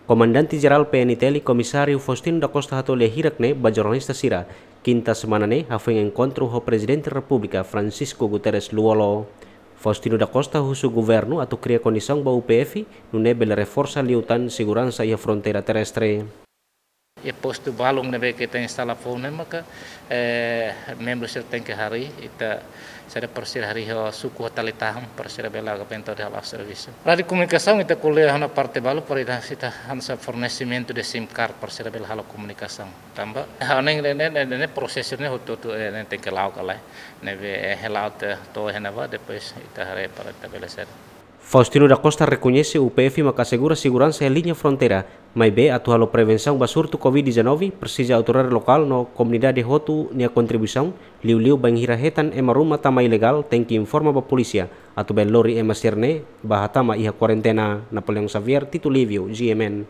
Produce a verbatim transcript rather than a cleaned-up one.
Komandante Jerál P N T L, Komisáriu Faustino da Costa hato'o lia hirak ne'e ba jornalista sira, kinta semana ne'e hafoin enkontru ho Prezidente Repúblika Francisco Guterres Lú-Olo. Faustino da Costa husu governu atu kria kondisaun ba U P F, nune'e bele reforsa liután seguransa iha fronteira terrestre. E postu balun ne'ebé ke ita instala foun ne'e maka, eh, membru sira tenke harii, ita sira para sira harii ho suku ho tali-tahan para sira bele agora bentau de hala'o servisu. Rádiu komunikasaun ita ko'alia ona parte balu para ita, ita hanesan fornesimentu de SIM card para sira bele halo komunikasaun. Tanba, ha'u hanoin ne'e, ne'e, ne'e, ne'e prosesu ne'e hotu-hotu, eh, ne'e tenke la'o ka lae. Ne'ebé, eh, hela te to hena ba, depois ita haree para ita bele sede. Faustino da Costa rekoñese U P F maka asegura seguransa iha liña fronteira, maibé atu halo prevensaun ba surtu covid dezanove, presiza autoridade lokál no komunidade hotu nia kontribuisaun, liuliu bainhira hetan ema ruma tama ilegál, tenke informa ba polísia, atu bele lori ema sira-ne'e ba hatama iha kuarentena. Napoleão Xavier, Tito Livio, G M N.